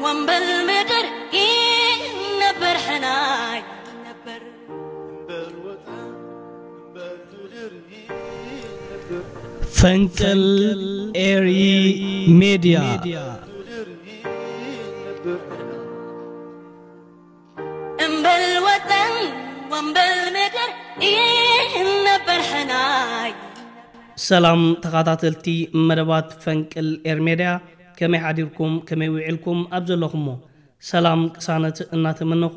ወንበል ምድር ይነበር ሕናይ ነበር። ፈንቅል ኤሪ ሜድያ። እምበል ወጠን ወንበል ምድር ይነበር ሕናይ። ሰላም ተኸታተልቲ መደባት ፈንቅል ኤር ሜድያ፣ ከመይ ሓዲርኩም፣ ከመይ ውዒልኩም ኣብ ዘለኹሞ? ሰላም ቅሳነት እናተመነኹ፣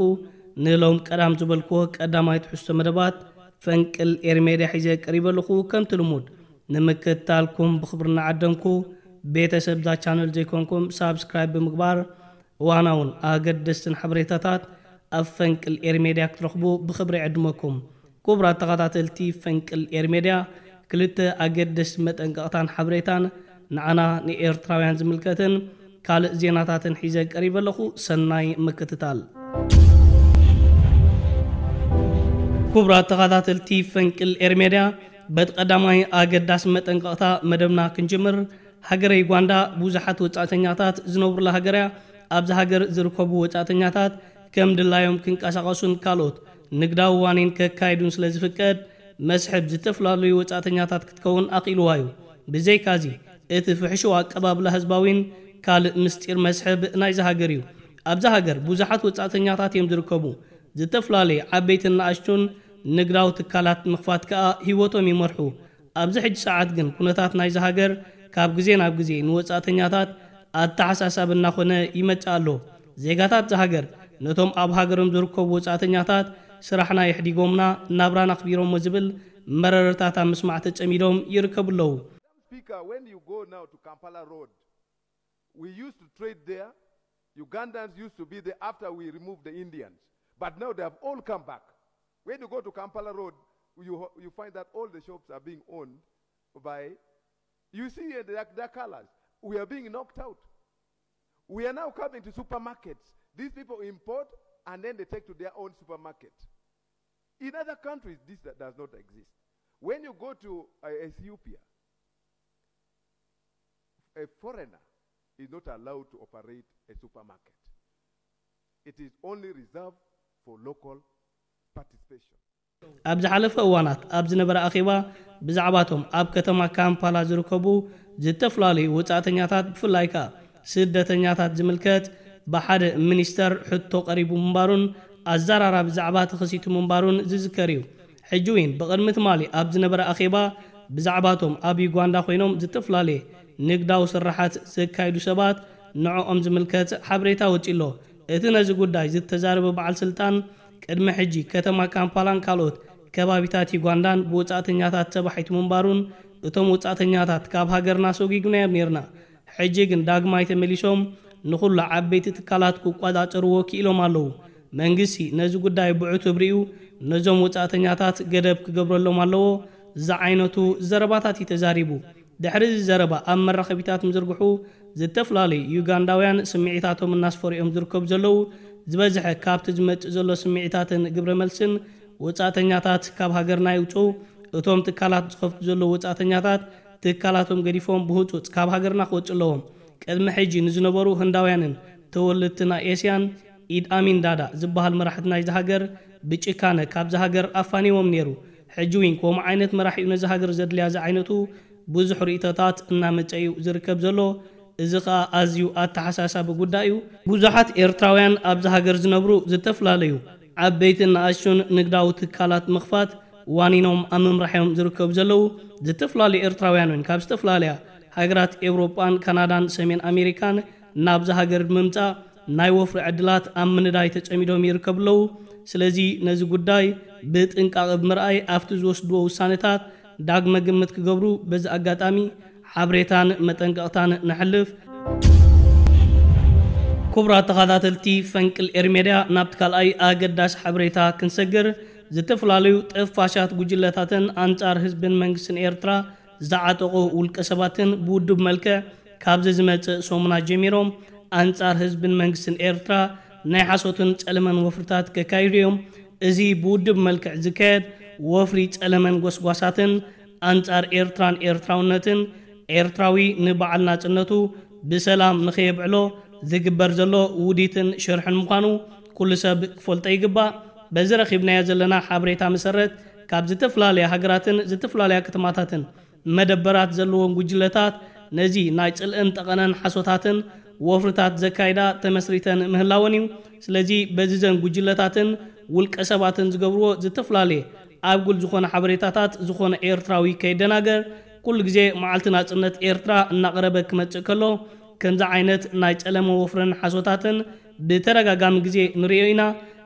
ንሎም ቀዳም ዝበልክዎ ቀዳማይ ትሕዝቶ መደባት ፈንቅል ኤር ሜድያ ሒዘ ቀሪበ ኣለኹ። ከምቲ ልሙድ ንምክትታልኩም ብኽብሪ እናዓደምኩ፣ ቤተሰብ እዛ ቻነል ዘይኮንኩም ሳብስክራይብ ብምግባር እዋናውን ኣገደስትን ሓበሬታታት ኣብ ፈንቅል ኤር ሜድያ ክትረኽቡ ብኽብሪ ይዕድመኩም። ክቡራት ተኸታተልቲ ፈንቅል ኤር ሜድያ፣ ክልተ ኣገደስቲ መጠንቀቕታን ሓበሬታን ንዓና ንኤርትራውያን ዝምልከትን ካልእ ዜናታትን ሒዘ ቀሪበ ኣለኹ። ሰናይ ምክትታል። ክቡራት ተኸታተልቲ ፈንቅል ኤር ሜድያ፣ በቲ ቀዳማይ ኣገዳሲ መጠንቀቕታ መደብና ክንጅምር፣ ሃገረ ዩጋንዳ ብዙሓት ወጻእተኛታት ዝነብሩላ ሃገር እያ። ኣብዚ ሃገር ዝርከቡ ወጻእተኛታት ከም ድላዮም ክንቀሳቐሱን ካልኦት ንግዳዊ ዋኒን ከካይዱን ስለ ዝፍቀድ፣ መስሕብ ዝተፈላለዩ ወጻእተኛታት ክትከውን ኣኽኢልዋ እዩ። ብዘይካዚ፣ እቲ ፍሕሽው ኣቀባብላ ህዝባዊን ካልእ ምስጢር መስሕብ ናይዚ ሃገር እዩ። ኣብዚ ሃገር ብዙሓት ወጻእተኛታት እዮም ዝርከቡ። ዝተፈላለዩ ዓበይትን ንኣሽቱን ንግዳዊ ትካላት ምኽፋት ከኣ ህይወቶም ይመርሑ። ኣብዚ ሕጂ ሰዓት ግን ኩነታት ናይዚ ሃገር ካብ ግዜ ናብ ግዜ ንወጻእተኛታት ኣተሓሳሳቢ እናኾነ ይመጽእ ኣሎ። ዜጋታት እዛ ሃገር ነቶም ኣብ ሃገሮም ዝርከቡ ወጻእተኛታት ስራሕና የሕዲጎምና፣ ናብራና ኣኽቢሮሞ ዝብል መረረታት ኣብ ምስማዕ ተጸሚዶም ይርከቡ ኣለዉ። Speaker, when you go now to Kampala Road, we used to trade there. Ugandans used to be there after we removed the Indians. But now they have all come back. When you go to Kampala Road, you, you find that all the shops are being owned by, you see, uh, their, their colors. We are being knocked out. We are now coming to supermarkets. These people import and then they take to their own supermarket. In other countries, this does not exist. When you go to, uh, Ethiopia, a foreigner is not allowed to operate a supermarket. It is only reserved for local participation. ኣብ ዝሓለፈ እዋናት ኣብ ዝነበረ ኣኼባ፣ ብዛዕባቶም ኣብ ከተማ ካምፓላ ዝርከቡ ዝተፈላለዩ ወጻእተኛታት፣ ብፍላይ ከኣ ስደተኛታት ዝምልከት ብሓደ ሚኒስተር ሕቶ ቀሪቡ ምንባሩን ኣዘራራቢ ዛዕባ ተኸሲቱ ምንባሩን ዝዝከር እዩ። ሕጂ እውን ብቕድሚ ትማሊ ኣብ ዝነበረ ኣኼባ፣ ብዛዕባቶም ኣብ ዩጋንዳ ኮይኖም ዝተፈላለየ ንግዳዊ ስራሓት ዘካይዱ ሰባት ንዕኦም ዝምልከት ሓበሬታ ወጺኡ ኣሎ። እቲ ነዚ ጉዳይ ዝተዛረበ በዓል ስልጣን፣ ቅድሚ ሕጂ ከተማ ካምፓላን ካልኦት ከባቢታት ዩጋንዳን ብወጻእተኛታት ተባሒቱ ምንባሩን፣ እቶም ወጻእተኛታት ካብ ሃገርና ኣሰጒግናዮም ኔርና፣ ሕጂ ግን ዳግማይ ተመሊሶም ንኹሉ ዓበይቲ ትካላት ክቆጻጸርዎ ክኢሎም ኣለዉ። መንግስቲ ነዚ ጉዳይ ብዕቱብ ሪኡ ነዞም ወጻእተኛታት ገደብ ክገብረሎም ኣለዎ ዝዓይነቱ ዘረባታት እዩ ተዛሪቡ። ድሕሪ እዚ ዘረባ ኣብ መራኸቢታት ምዝርግሑ፣ ዝተፈላለዩ ዩጋንዳውያን ስምዒታቶም እናስፈሩ እዮም ዝርከቡ ዘለዉ። ዝበዝሐ ካብቲ ዝመጽእ ዘሎ ስምዒታትን ግብረ መልስን፣ ወጻእተኛታት ካብ ሃገርና ይውጽኡ፣ እቶም ትካላት ዝኸፍቱ ዘለዉ ወጻእተኛታት ትካላቶም ገዲፎም ብህጹጽ ካብ ሃገርና ክወጽኡ ኣለዎም። ቅድሚ ሕጂ ንዝነበሩ ህንዳውያንን ተወለድቲ ናይ ኤስያን ኢድ ኣሚን ዳዳ ዝበሃል መራሕቲ ናይዚ ሃገር ብጭካነ ካብዚ ሃገር ኣፋኒዎም ነይሩ። ሕጂ እውን ከምኡ ዓይነት መራሒ እዩ ነዚ ሃገር ዘድልያ ዝዓይነቱ ብዙሕ ርእይቶታት እናመጸ እዩ ዝርከብ ዘሎ። እዚ ኸኣ ኣዝዩ ኣተሓሳሳቢ ጉዳይ እዩ። ብዙሓት ኤርትራውያን ኣብዚ ሃገር ዝነብሩ ዝተፈላለዩ ዓበይትን ንኣሽቱን ንግዳዊ ትካላት ምኽፋት ዋኒኖም ኣብ ምምራሕ እዮም ዝርከቡ ዘለዉ። ዝተፈላለዩ ኤርትራውያን እውን ካብ ዝተፈላለያ ሃገራት ኤውሮጳን ካናዳን ሰሜን ኣሜሪካን ናብዚ ሃገር ብምምጻእ ናይ ወፍሪ ዕድላት ኣብ ምንዳይ ተጸሚዶም ይርከቡ ኣለዉ። ስለዚ ነዚ ጉዳይ ብጥንቃቐ ብምርኣይ ኣብቲ ዝወስድዎ ውሳነታት ዳግመ ግምት ክገብሩ በዚ ኣጋጣሚ ሓበሬታን መጠንቀቕታን ነሕልፍ። ክቡራት ተኸታተልቲ ፈንቅል ኤር ሜድያ፣ ናብቲ ካልኣይ ኣገዳሲ ሓበሬታ ክንሰግር፣ ዝተፈላለዩ ጠፋሻት ጉጅለታትን ኣንጻር ህዝብን መንግስትን ኤርትራ ዝዓጠቑ ውልቀ ሰባትን ብውድብ መልክዕ ካብዚ ዝመጽእ ሰሙናት ጀሚሮም ኣንጻር ህዝብን መንግስትን ኤርትራ ናይ ሓሶትን ጸለመን ወፍርታት ከካይዱ እዮም። እዚ ብውድብ መልክዕ ዝካየድ ወፍሪ ጸለመን ጎስጓሳትን ኣንጻር ኤርትራን ኤርትራውነትን፣ ኤርትራዊ ንበዓል ናጽነቱ ብሰላም ንኸየብዕሎ ዝግበር ዘሎ ውዲትን ሽርሕን ምዃኑ ኩሉ ሰብ ክፈልጦ ይግባእ። በዚ ረኺብናዮ ዘለና ሓበሬታ መሰረት፣ ካብ ዝተፈላለያ ሃገራትን ዝተፈላለያ ከተማታትን መደበራት ዘለዎም ጉጅለታት ነዚ ናይ ጽልእን ጠቐነን ሓሶታትን ወፍርታት ዘካይዳ ተመስሪተን ምህላወን እዩ። ስለዚ በዚ ዘን ጉጅለታትን ውልቀ ሰባትን ዝገብርዎ ዝተፈላለየ ኣብ ጉል ዝኾነ ሓበሬታታት ዝኾነ ኤርትራዊ ከይደናገር፣ ኩሉ ግዜ መዓልቲ ናጽነት ኤርትራ እናቐረበ ክመጽእ ከሎ፣ ከምዚ ዓይነት ናይ ጸለመ ወፍርን ሓሶታትን ብተደጋጋሚ ግዜ ንርእዮ ኢና።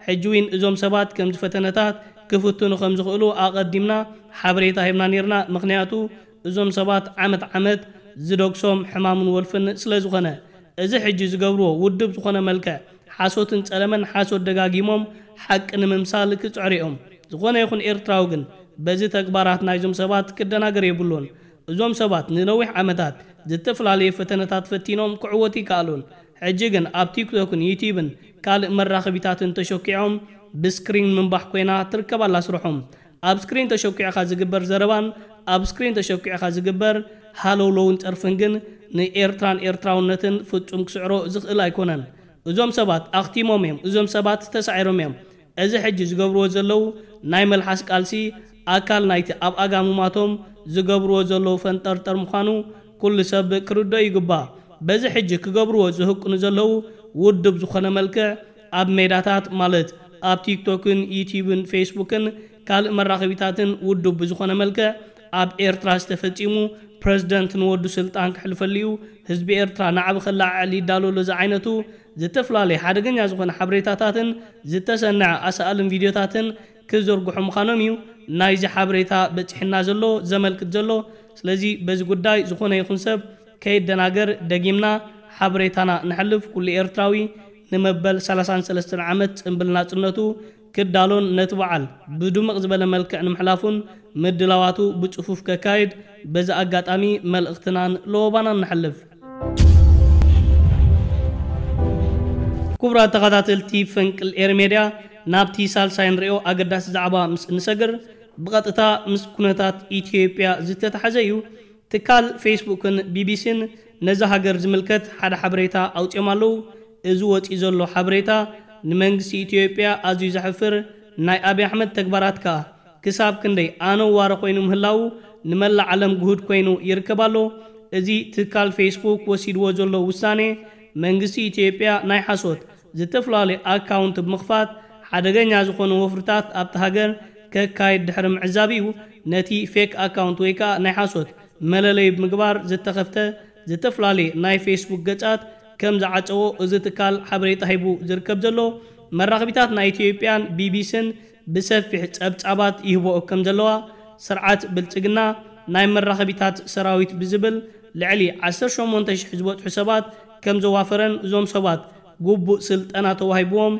ሕጂ እውን እዞም ሰባት ከምዚ ፈተነታት ክፍትኑ ከም ዝኽእሉ ኣቐዲምና ሓበሬታ ሂብና ነይርና። ምኽንያቱ እዞም ሰባት ዓመት ዓመት ዝደግሶም ሕማምን ወልፍን ስለ ዝኾነ፣ እዚ ሕጂ ዝገብርዎ ውድብ ዝኾነ መልክዕ ሓሶትን ጸለመን፣ ሓሶት ደጋጊሞም ሓቂ ንምምሳል ክጽዕሩ እዮም። ዝኾነ ይኹን ኤርትራዊ ግን በዚ ተግባራት ናይዞም ሰባት ክደናገር የብሉን። እዞም ሰባት ንነዊሕ ዓመታት ዝተፈላለዩ ፈተነታት ፈቲኖም ክዕወቱ ይከኣሉን። ሕጂ ግን ኣብ ቲክቶክን ዩቲዩብን ካልእ መራኸቢታትን ተሸኪዖም ብስክሪን ምንባሕ ኮይና ትርከብ ኣላ ስርሖም። ኣብ ስክሪን ተሸኪዕኻ ዝግበር ዘረባን ኣብ ስክሪን ተሸኪዕኻ ዝግበር ሃለውለውን ጸርፍን ግን ንኤርትራን ኤርትራውነትን ፍጹም ክስዕሮ ዝኽእል ኣይኮነን። እዞም ሰባት ኣኽቲሞም እዮም። እዞም ሰባት ተሳዒሮም እዮም። እዚ ሕጂ ዝገብርዎ ዘለዉ ናይ መልሓስ ቃልሲ ኣካል ናይቲ ኣብ ኣጋምማቶም ዝገብርዎ ዘለዉ ፈንጠርጠር ምዃኑ ኩሉ ሰብ ክርድኦ ይግባእ። በዚ ሕጂ ክገብርዎ ዝህቅኑ ዘለዉ ውድብ ዝኾነ መልክዕ ኣብ ሜዳታት ማለት ኣብ ቲክቶክን ዩቲዩብን ፌስቡክን ካልእ መራኸቢታትን ውድብ ብዝኾነ መልክዕ ኣብ ኤርትራ ዝተፈጺሙ ፕረዚደንት ንወዱ ስልጣን ክሕልፈሉ እዩ፣ ህዝቢ ኤርትራ ናዕቢ ከለዓዕል ይዳሎ ኣሎ ዝዓይነቱ ዝተፈላለየ ሓደገኛ ዝኾነ ሓበሬታታትን ዝተሰነዐ ኣሳእልን ቪድዮታትን ክዝርግሑ ምዃኖም እዩ ናይዚ ሓበሬታ በጺሕና ዘሎ ዘመልክት ዘሎ። ስለዚ በዚ ጉዳይ ዝኾነ ይኹን ሰብ ከይደናገር ደጊምና ሓበሬታና ነሕልፍ። ኩሉ ኤርትራዊ ንመበል ሰላሳን ሰለስተን ዓመት ጽምብል ናጽነቱ ክዳሎን ነቲ በዓል ብድምቕ ዝበለ መልክዕ ንምሕላፉን ምድላዋቱ ብጽፉፍ ከካይድ በዚ ኣጋጣሚ መልእኽትናን ለወባናን ነሕልፍ። ክቡራት ተኸታተልቲ ፈንቅል ኤር ሜድያ፣ ናብቲ ሳልሳይ ንሪኦ ኣገዳሲ ዛዕባ ምስ እንሰግር፣ ብቐጥታ ምስ ኩነታት ኢትዮጵያ ዝተታሕዘ እዩ። ትካል ፌስቡክን ቢቢሲን ነዛ ሃገር ዝምልከት ሓደ ሓበሬታ ኣውጺኦም ኣለዉ። እዚ ወጺኡ ዘሎ ሓበሬታ ንመንግስቲ ኢትዮጵያ ኣዝዩ ዘሕፍር፣ ናይ ኣብይ ኣሕመድ ተግባራት ከኣ ክሳብ ክንደይ ኣነዋሪ ኮይኑ ምህላዉ ንመላእ ዓለም ግሁድ ኮይኑ ይርከብ ኣሎ። እዚ ትካል ፌስቡክ ወሲድዎ ዘሎ ውሳኔ፣ መንግስቲ ኢትዮጵያ ናይ ሓሶት ዝተፈላለዩ ኣካውንት ብምኽፋት ሓደገኛ ዝኾኑ ወፍርታት ኣብቲ ሃገር ከካይድ ድሕሪ ምዕዛብ እዩ። ነቲ ፌክ ኣካውንት ወይ ከኣ ናይ ሓሶት መለለይ ብምግባር ዝተኸፍተ ዝተፈላለየ ናይ ፌስቡክ ገጻት ከም ዝዓጸዎ እዚ ትካል ሓበሬታ ሂቡ ዝርከብ ዘሎ። መራኸቢታት ናይ ኢትዮጵያን ቢቢሲን ብሰፊሕ ጸብጻባት ይህብኦ ከም ዘለዋ፣ ስርዓት ብልጽግና ናይ መራኸቢታት ሰራዊት ብዝብል ልዕሊ ዓሰርተ ሸሞንተ ሽሕ ዝበጽሑ ሰባት ከም ዘዋፈረን፣ እዞም ሰባት ግቡእ ስልጠና ተዋሂብዎም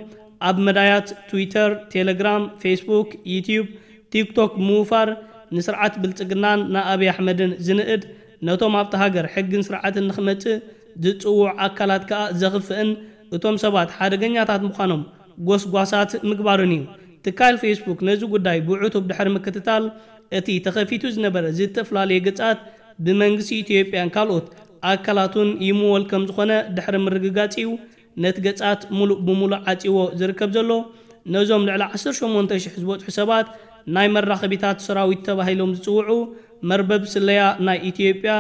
ኣብ መዳያት ትዊተር፣ ቴሌግራም፣ ፌስቡክ፣ ዩቲዩብ፣ ቲክቶክ ምውፋር ንስርዓት ብልጽግናን ንኣብይ ኣሕመድን ዝንእድ፣ ነቶም ኣብቲ ሃገር ሕግን ስርዓትን ንኽመጽእ ዝጽውዑ ኣካላት ከኣ ዘኽፍእን እቶም ሰባት ሓደገኛታት ምዃኖም ጎስጓሳት ምግባርን እዩ። ትካል ፌስቡክ ነዚ ጉዳይ ብዕቱብ ድሕሪ ምክትታል፣ እቲ ተኸፊቱ ዝነበረ ዝተፈላለየ ገጻት ብመንግስቲ ኢትዮጵያን ካልኦት ኣካላቱን ይምወል ከም ዝኾነ ድሕሪ ምርግጋጽ እዩ ነቲ ገጻት ሙሉእ ብሙሉእ ዓጺዎ ዝርከብ ዘሎ። ነዞም ልዕሊ ዓሰርተ ሸሞንተ ሽሕ ዝበጽሑ ሰባት ናይ መራኸቢታት ሰራዊት ተባሂሎም ዝጽውዑ መርበብ ስለያ ናይ ኢትዮጵያ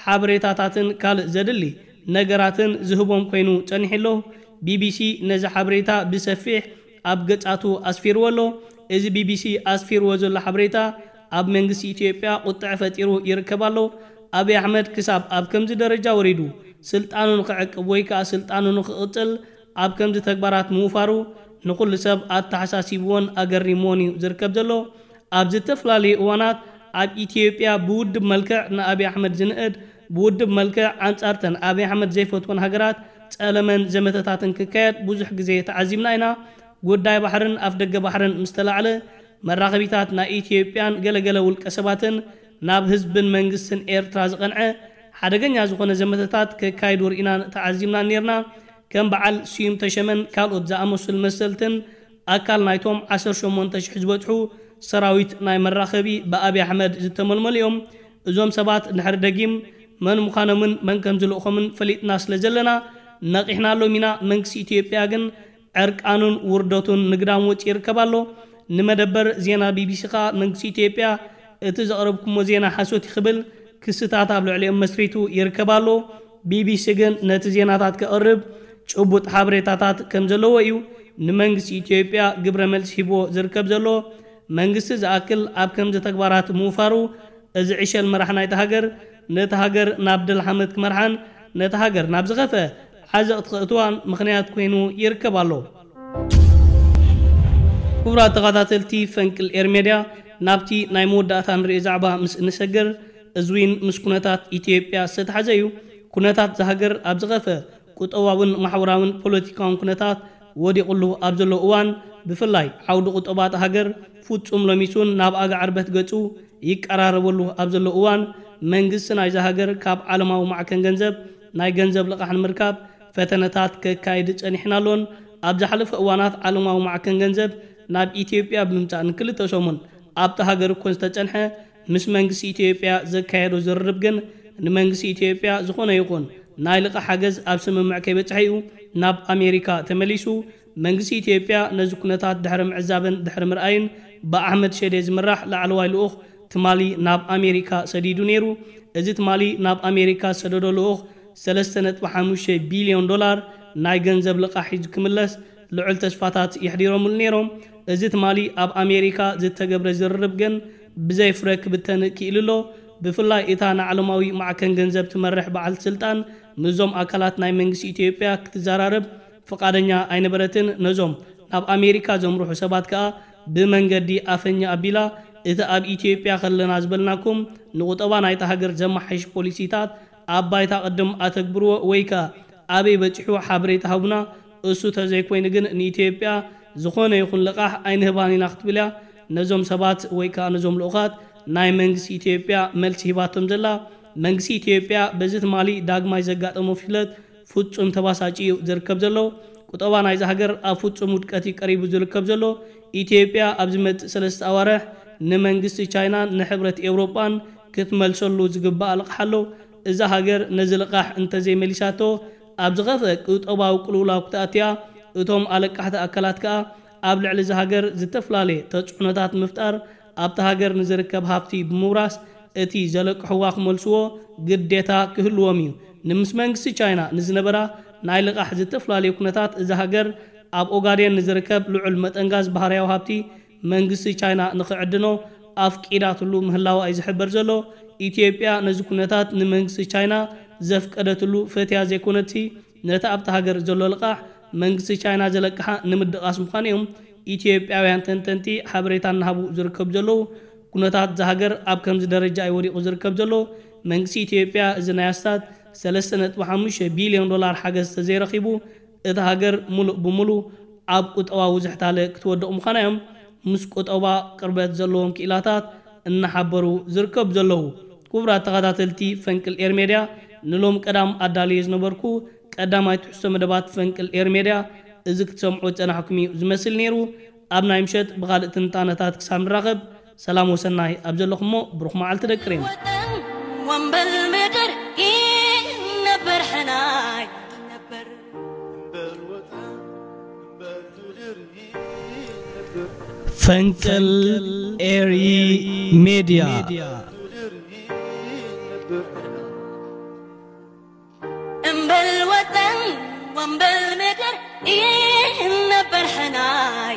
ሓበሬታታትን ካልእ ዘድሊ ነገራትን ዝህቦም ኮይኑ ጸኒሑ ኣሎ። ቢቢሲ ነዚ ሓበሬታ ብሰፊሕ ኣብ ገጻቱ ኣስፊርዎ ኣሎ። እዚ ቢቢሲ ኣስፊርዎ ዘሎ ሓበሬታ ኣብ መንግስቲ ኢትዮጵያ ቁጥዐ ፈጢሩ ይርከብ ኣሎ። ኣብይ ኣሕመድ ክሳብ ኣብ ከምዚ ደረጃ ወሪዱ ስልጣኑ ንኽዕቅብ ወይ ከኣ ስልጣኑ ንኽቕጽል ኣብ ከምዚ ተግባራት ምውፋሩ ንኹሉ ሰብ ኣተሓሳሲብዎን ኣገሪምዎን እዩ ዝርከብ ዘሎ። ኣብ ዝተፈላለዩ እዋናት ኣብ ኢትዮጵያ ብውድብ መልክዕ ንኣብይ ኣሕመድ ዝንእድ፣ ብውድብ መልክዕ ኣንጻርተን ኣብይ ኣሕመድ ዘይፈትወን ሃገራት ጸለመን ዘመተታትን ክካየድ ብዙሕ ግዜ ተዓዚብና ኢና። ጉዳይ ባሕርን ኣፍደገ ባሕርን ምስ ተላዕለ፣ መራኸቢታት ናይ ኢትዮጵያን ገለገለ ውልቀ ሰባትን ናብ ህዝብን መንግስትን ኤርትራ ዝቐንዐ ሓደገኛ ዝኾነ ዘመተታት ከካይዱ ርኢናን ተዓዚብናን ነይርና። ከም በዓል ስዩም ተሸመን ካልኦት ዝኣመሰሉ መሰልትን ኣካል ናይቶም ዓሰርተ ሸሞንተ ሽሕ ዝበጽሑ ሰራዊት ናይ መራኸቢ ብኣብይ ኣሕመድ ዝተመልመሉ እዮም። እዞም ሰባት ድሕሪ ደጊም መን ምዃኖምን መን ከም ዝልእኾምን ፈሊጥና ስለ ዘለና፣ ነቒሕናሎም ኢና። መንግስቲ ኢትዮጵያ ግን ዕርቃኑን ውርደቱን ንግዳም ወፂኡ ይርከብ ኣሎ። ንመደበር ዜና ቢቢሲ ከዓ መንግስቲ ኢትዮጵያ እቲ ዘቕረብኩሞ ዜና ሓሶት እዩ ክብል ክስታት ኣብ ልዕሊኦም መስሪቱ ይርከብ ኣሎ። ቢቢሲ ግን ነቲ ዜናታት ከቕርብ ጭቡጥ ሓበሬታታት ከም ዘለዎ እዩ ንመንግስቲ ኢትዮጵያ ግብረ መልሲ ሂቦ ዝርከብ ዘሎ። መንግስቲ ዝኣክል ኣብ ከምዚ ተግባራት ምውፋሩ፣ እዚ ዕሸል መራሕ ናይታ ሃገር ነቲ ሃገር ናብ ድል ሓመድ ክመርሓን ነቲ ሃገር ናብ ዝኸፈ ዓዘቕቲ ክእትዋን ምኽንያት ኮይኑ ይርከብ ኣሎ። ክቡራት ተኸታተልቲ ፈንቅል ኤር ሜድያ፣ ናብቲ ናይ መወዳእታ ንሪኦ ዛዕባ ምስ እንሰግር፣ እዚ እውን ምስ ኩነታት ኢትዮጵያ ዝተተሓዘ እዩ። ኩነታት ዝሃገር ኣብ ዝኸፈ ቁጠባውን ማሕበራውን ፖለቲካውን ኩነታት ወዲቑሉ ኣብ ዘሎ እዋን፣ ብፍላይ ዓውዲ ቁጠባ እታ ሃገር ፍጹም ሎሚሱን ናብ ኣጋ ዕርበት ገጹ ይቀራረበሉ ኣብ ዘሎ እዋን፣ መንግስቲ ናይዛ ሃገር ካብ ዓለማዊ ማዕከን ገንዘብ ናይ ገንዘብ ልቓሕ ንምርካብ ፈተነታት ከካይድ ጸኒሕን ኣሎን። ኣብ ዝሓለፈ እዋናት ዓለማዊ ማዕከን ገንዘብ ናብ ኢትዮጵያ ብምምጻእ ንክልተ ሰሙን ኣብታ ሃገር እኮ ዝተጸንሐ፣ ምስ መንግስቲ ኢትዮጵያ ዘካየዶ ዝርርብ ግን፣ ንመንግስቲ ኢትዮጵያ ዝኾነ ይኹን ናይ ልቓሕ ሓገዝ ኣብ ስምምዕ ከይበጽሐ እዩ ናብ ኣሜሪካ ተመሊሱ። መንግስቲ ኢትዮጵያ ነዚ ኩነታት ድሕሪ ምዕዛብን ድሕሪ ምርኣይን፣ ብኣሕመድ ሸዴ ዝምራሕ ላዕለዋይ ልኡኽ ትማሊ ናብ ኣሜሪካ ሰዲዱ ነይሩ። እዚ ትማሊ ናብ ኣሜሪካ ዝሰደዶ ልኡኽ ሰለስተ ነጥቢ ሓሙሽተ ቢልዮን ዶላር ናይ ገንዘብ ልቓሕ ሒዙ ክምለስ ልዑል ተስፋታት የሕዲሮምሉ ነይሮም። እዚ ትማሊ ኣብ ኣሜሪካ ዝተገብረ ዝርርብ ግን ብዘይ ፍረ ክብተን ክኢሉ ኣሎ። ብፍላይ እታ ንዓለማዊ ማዕከን ገንዘብ ትመርሕ በዓልቲ ስልጣን ምስዞም ኣካላት ናይ መንግስቲ ኢትዮጵያ ክትዘራረብ ፍቓደኛ ኣይነበረትን። ነዞም ናብ ኣሜሪካ ዘምርሑ ሰባት ከኣ ብመንገዲ ኣፈኛ ኣቢላ፣ እቲ ኣብ ኢትዮጵያ ከለና ዝበልናኩም ንቁጠባ ናይታ ሃገር ዘመሓይሽ ፖሊሲታት ኣብ ባይታ ቅድም ኣተግብርዎ ወይ ከኣ ኣበይ በጺሑ ሓበሬታ ሃቡና፣ እሱ ተዘይኮይኑ ግን ንኢትዮጵያ ዝኾነ ይኹን ልቓሕ ኣይንህባን ኢና ክትብል እያ ነዞም ሰባት ወይ ከኣ ነዞም ልኡኻት ናይ መንግስቲ ኢትዮጵያ መልሲ ሂባቶም ዘላ። መንግስቲ ኢትዮጵያ በዚ ትማሊ ዳግማይ ዘጋጠሞ ፍሽለት ፍጹም ተባሳጭ እዩ ዝርከብ ዘሎ። ቁጠባ ናይዚ ሃገር ኣብ ፍጹም ውድቀት እዩ ቀሪቡ ዝርከብ ዘሎ። ኢትዮጵያ ኣብ ዝመጽእ ሰለስተ ኣዋርሕ ንመንግስቲ ቻይናን ንሕብረት ኤውሮጳን ክትመልሰሉ ዝግባእ ልቓሕ ኣሎ። እዛ ሃገር ነዚ ልቓሕ እንተዘይመሊሳቶ፣ ኣብ ዝኸፍአ ቁጠባዊ ቅልውላው ክትኣትያ፣ እቶም ኣለቃሕቲ ኣካላት ከኣ ኣብ ልዕሊ እዛ ሃገር ዝተፈላለየ ተጽዕኖታት ምፍጣር፣ ኣብታ ሃገር ንዝርከብ ሃብቲ ብምውራስ እቲ ዘለቅሕዋ ክመልስዎ ግዴታ ክህልዎም እዩ። ንምስ መንግስቲ ቻይና ንዝነበራ ናይ ልቓሕ ዝተፈላለዩ ኩነታት እዛ ሃገር ኣብ ኦጋዴን ንዝርከብ ልዑል መጠን ጋዝ ባህርያዊ ሃብቲ መንግስቲ ቻይና ንኽዕድኖ ኣፍቂዳትሉ ምህላዋ እዩ ዝሕበር ዘሎ። ኢትዮጵያ ነዚ ኩነታት ንመንግስቲ ቻይና ዘፍቀደትሉ ፈትያ ዘይኮነትሲ፣ ነቲ ኣብታ ሃገር ዘሎ ልቓሕ መንግስቲ ቻይና ዘለቅሓ ንምድቓስ ምዃኑ እዮም ኢትዮጵያውያን ተንተንቲ ሓበሬታ እናሃቡ ዝርከቡ ዘለዉ። ኩነታት እዛ ሃገር ኣብ ከምዚ ደረጃ እዩ ወዲቑ ዝርከብ ዘሎ። መንግስቲ ኢትዮጵያ እዚ ናይ ኣስታት ሰለስተ ነጥቢ ሓሙሽተ ቢልዮን ዶላር ሓገዝ ተዘይረኺቡ፣ እታ ሃገር ሙሉእ ብሙሉ ኣብ ቁጠባዊ ዝሕታለ ክትወድቕ ምዃና እዮም ምስ ቁጠባ ቅርበት ዘለዎም ክኢላታት እናሓበሩ ዝርከቡ ዘለዉ። ክቡራት ተኸታተልቲ ፈንቅል ኤር ሜድያ፣ ንሎም ቀዳም ኣዳልየ ዝነበርኩ ቀዳማይ ትሕዝቶ መደባት ፈንቅል ኤር ሜድያ እዚ ክትሰምዑ ዝጸናሕኩም እዩ ዝመስል ነይሩ። ኣብ ናይ ምሸት ብኻልእ ትንታነታት ክሳብ ንራኸብ፣ ሰላም ወሰናይ ኣብ ዘለኹሞ ብሩኽ መዓልቲ ደቂ ሬም። ወጠን ወንበል ምድር ይነበር ሕናይ ነበር። ፈንቅል ኤሪ ሜድያ። እምበል ወጠን ወንበል ምድር ይነበር ሕናይ